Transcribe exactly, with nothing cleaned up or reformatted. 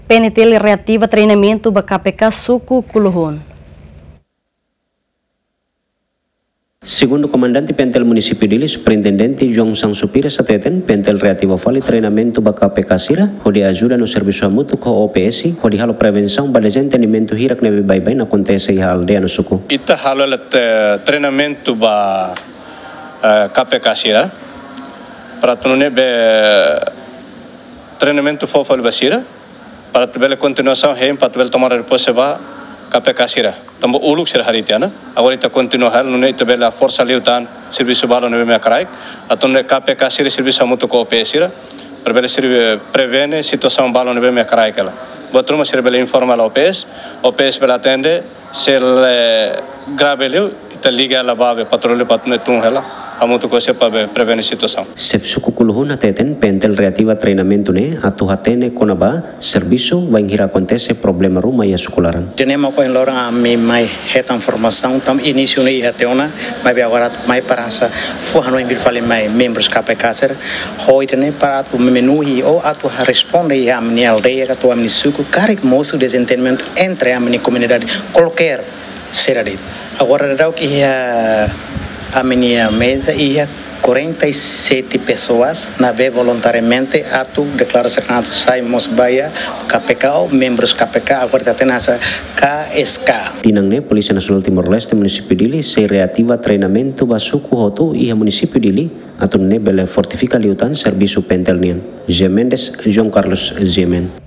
PNTL reativa treinamentu ba K P K suku Kuluhun. Segundu Komandante PNTL Munisípiu Dili, Superintendente João Sansu Pires hateten, PNTL reativa fali treinamentu ba K P K sira, hodi ajuda no servisu hamutuk ho O P S, hodi halo prevensaun ba dezentendimentu hirak ne'ebé baibain akontese iha aldeia no suku. Ita halo hela, eh, treinamentu ba, eh, K P K sira, para atu nune'e be treinamentu fó fali ba sira, para atu bele kontinuasaun hein, para atu bele tomada de pose ba K P K sira. Tanba uluk sira harii tiha ona. Agora ita kontinua hela, nune'e ita bele forsa liután servisu balun ne'ebé mak kraik. Atu nune'e K P K sira servisu hamutuk ho O P S sira, para bele serve prevene situasaun balun ne'ebé mak kraik hela. Buat ruma sira bele informa hela O P S, O P S bele atende, se la grave liu, ita liga hela ba be patrullu para atu nune'e tun hela hamutuk ho sira para be prevene situasaun. Xefe suku Kuluhun hateten, PNTL reativa treinamentu ne'e atu hatene kona-ba servisu bainhira akontese problema ruma iha suku laran. Ida-ne'e mak ohin loron ami mai hetan formasaun, tanba inísiu ne'e iha tiha ona, maibé agora mai para hanesan fó hanoin fila fali mai membrus K P K sira, hodi nune'e para atu memenuhi ou atu responde iha ami-nia aldeia ka atu ami-nia suku, karik mosu dezentendimentu entre ami-nia komunidade, kualkér sira de'it. Agora daudaun iha ami-nia meza iha quarenta e sete pessoas ne'ebé voluntariamente atu deklara sira atu sai mós ba iha K P K ou membrus K P K, agora ita hatene hanesan K S K. Tinan ne'e, Polísia Nasionál Timor-Leste Munisípiu Dili sei reativa treinamentu ba suku hotu iha Munisípiu Dili, atu nune'e bele fortifika liután servisu PNTL nian. José Mendes, João Carlos, G M N.